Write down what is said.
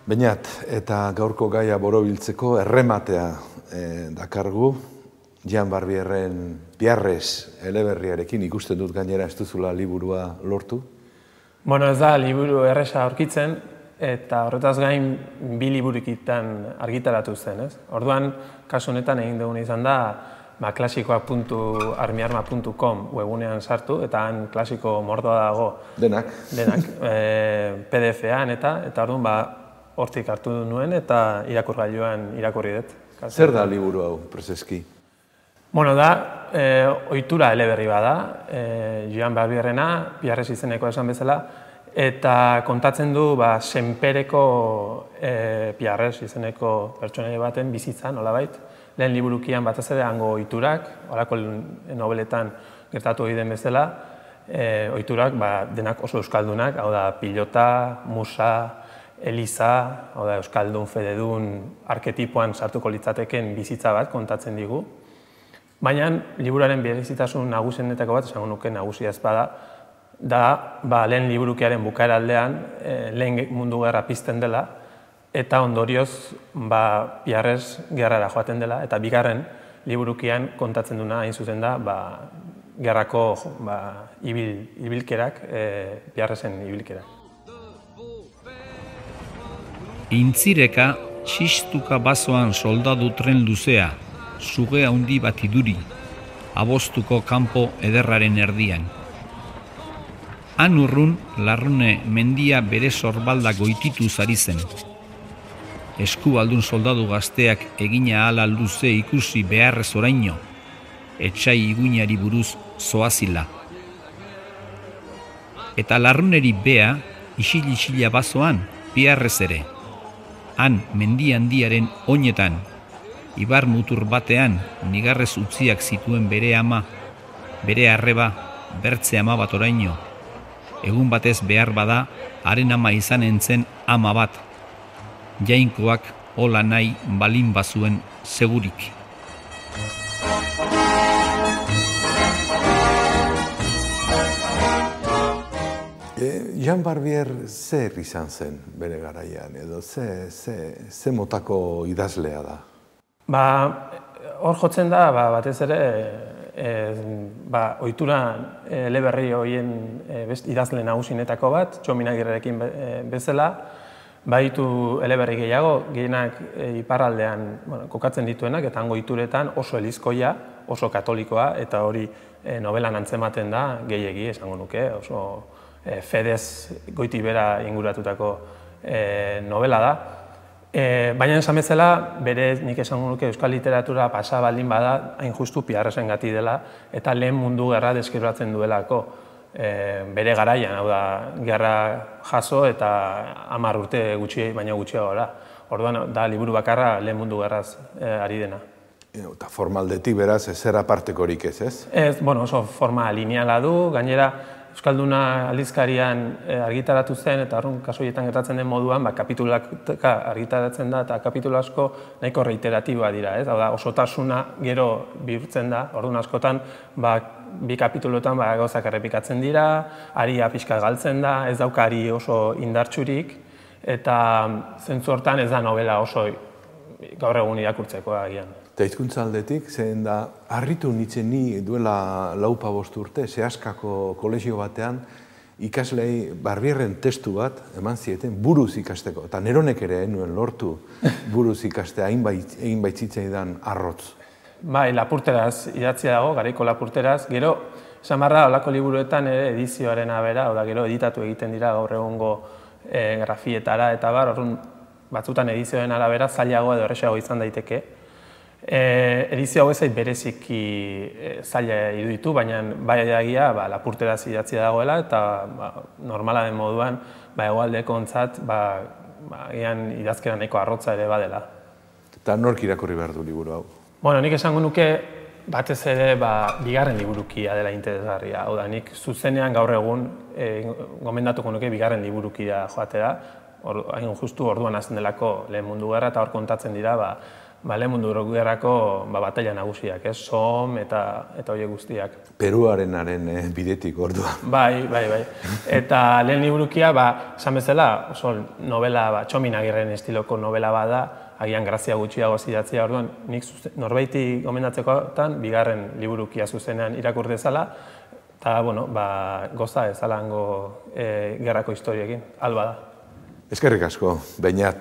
Beñat, eta gaurko gaia borobiltzeko errematea dakargu, Jean Barbierren Biarrez eleberriarekin ikusten dut gainera ez duzula liburua lortu. Bueno, ez da liburu erresa aurkitzen, eta horretaz gain bi liburikitan argitaratu zen, ez? Orduan, kasu honetan egin duguna izan da, klasikoak.armiarma.com webunean sartu, eta han klasiko mordoa dago. Denak. PDF-an eta orduan, hortik hartu nuen eta irakurgailuan irakurri dut. Zer da liburu hau, prezeski? Bueno, da, ohitura eleberri bada, Jean Barbierrena, Biarrez izeneko esan bezala, eta kontatzen du senpereko Biarrez izeneko pertsonaia baten bizitza, nolabait. Lehen liburukian batez ere hango ohiturak, horako nobeletan gertatu egiten bezala, ohiturak denak oso euskaldunak, hau da pilota, musa, eliza, hau da euskaldun, fededun, arketipoan sartuko litzateken bizitza bat kontatzen digu. Baina liburuaren berezitasun nagusienetako bat, esango nuke nagusia ez bada, da lehen liburukiaren bukaera aldean lehen mundu gerra pizten dela, eta ondorioz Biarrez gerrara joaten dela, eta bigarren liburukian kontatzen duna hain zuzen da gerrako ibilkerak, Biarrezen ibilkerak. Intzireka, txistuka bazoan soldadu tren luzea, suge handi bat iduri, abostuko kanpo ederraren erdian. Han urrun, Larrune mendia bere sorbalda goititu zari zen. Eskubaldun soldadu gazteak egina ala luze ikusi beharrez oraino, etxai iguinari buruz zoazila. Eta Larruneri bea, isil-isila bazoan, Biarrez ere. Han mendi handiaren oinetan, ibar mutur batean, nigarrez utziak zituen bere ama, bere arreba, bertze ama bat oraino. Egun batez behar bada, haren ama izanen zen ama bat. Jainkoak hola nahi balin bazuen segurik. Jean Barbier zer izan zen bere garaian, edo ze motako idazlea da? Hor jotzen da, batez ere, ohitura eleberri horien idazle nagusienetako bat, Txominagirrerekin bezala, baditu eleberri gehiago, gehienak iparraldean kokatzen dituenak, eta hango ohituretan oso elizkoia, oso katolikoa, eta hori novelan antzematen da, gehiegi esango nuke, oso fedez goiti bera inguratutako novela da. Baina esan bezala, berez nik esango nuke euskal literatura pasa baldin bada, hain justu Biarrezen gati dela, eta lehen mundu gerra deskribatzen duelako bere garaian, hau da, gerra jaso eta 10 urte baino gutxiago da. Orduan, da liburu bakarra lehen mundu gerraz ari dena. Eta formaldetik beraz, ezer apartekorik ez, ez? Ez, oso forma lineala du, gainera, Euskalduna aldizkarian argitaratu zen, eta horren kaso horietan gertatzen den moduan, kapitulak argitaratzen da, eta kapitulu asko nahiko reiteratiboa dira, ez? Hau da, osotasuna gero bihurtzen da, orduan askotan, bi kapituluetan gauzak errepikatzen dira, aria pixka galtzen da, ez dauka ari oso indartsurik, eta zentzu hortan ez da novela oso gaur egun irakurtzeko agian. Eta hizkuntza aldetik, zehen da, harritu nintzen ni duela 4-5 urte, Seaskako kolegio batean, ikaslei Barbierren testu bat eman zieten buruz ikasteko. Eta neronek ere nuen lortu buruz ikastea, egin baitzitzaidan arrotz. Lapurteraz idatzia dago, garaiko lapurteraz. Gero, esan barra, olako liburuetan edizioaren abera, gero editatu egiten dira gaur egungo grafietara eta orduan batzutan edizioaren arabera zailago edo erresago izan daiteke. Edizio hau ezait bereziki zaila iruditu, baina bai egia lapurteraz idatzia dagoela eta normala den moduan hegoaldeko ontzat idazkera nahiko arrotza ere badela. Eta nork irakurri behar du liburu hau? Nik esango nuke batez ere bigarren liburukia dela interesgarria. Hau da, nik zuzenean gaur egun gomendatuko nuke bigarren liburukia joatera, hain justu orduan hasten delako lehen mundu gerra eta hor kontatzen dira lehen mundu gerrako batalla nagusiak, Somme eta horiek guztiak. Peruarenaren bidetik ordua. Bai. Eta lehen liburukia, esan bezala, oso novela, Txomin Agirren estiloko novela bada, agian grazia gutxiago idatzia, orduan, nik norbaiti gomendatzekotan, bigarren liburukia zuzenean irakur dezala, eta, goza ezalango gerrako historiekin, alba da. Eskerrik asko, Beñat.